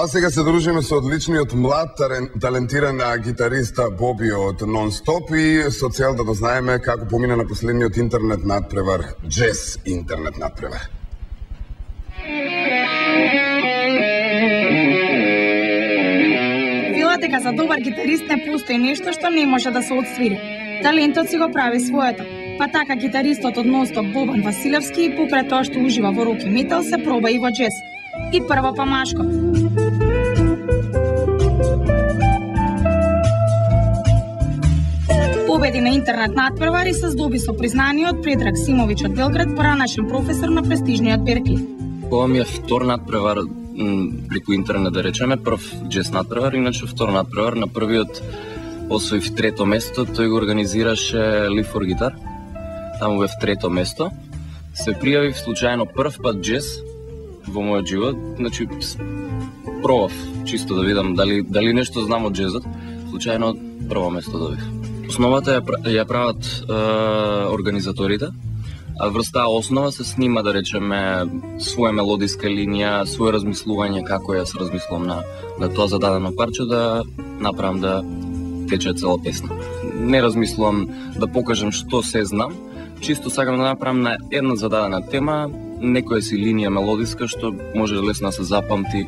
А сега се дружиме со одличниот млад, талентиран гитариста Боби од Нон-Стоп и со цел да дознаеме како помина на последниот интернет надпревар, Джез интернет надпревар. Велат дека за добар гитарист не постои нешто што не може да се отсвири. Талентот си го прави своето. Па така гитаристот од Нон-Стоп Бобан Василевски покрај тоа што ужива во рок и метал се проба и во джез. И прво па машко. Победи на интернет надпревар и се здоби со признание од Предраг Симовиќ од Белград, поранашен професор на престижниот Беркли. Ова ми е втор надпревар преку интернет, да речеме, прв джез надпревар, иначе втор надпревар. На првиот освоив трето место, тој го организираше Live for Guitar. Таму бев трето место. Се пријавив случајно прв пат джез во мојот живот, значи пробав чисто да видам дали нешто знам од джезот. Случајно прво место добив. Основата ја прават организаторите, а врз таа основа се снима, да речеме, своја мелодиска линија, свое размислување како јас размислувам на тоа зададено парче да направам да тече цела песна. Не размислувам да покажам што се знам, чисто сакам да направам на една зададена тема некоја си линија мелодиска што може лесно да се запамти.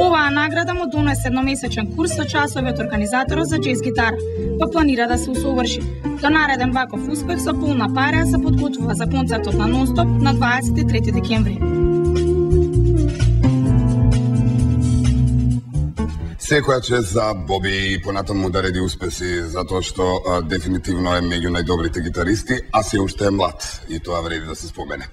Оваа награда му донесе едномесечен курс со часови од организаторот за джез гитара, па планира да се усоврши. До нареден ваков успех со полна пара се подготвува за концертот на Нон-Стоп на 23 декември. Секоја чест за Боби и понатаму да реди успеси, затоа што дефинитивно е меѓу најдобрите гитаристи, а се уште е млад и тоа вреди да се спомене.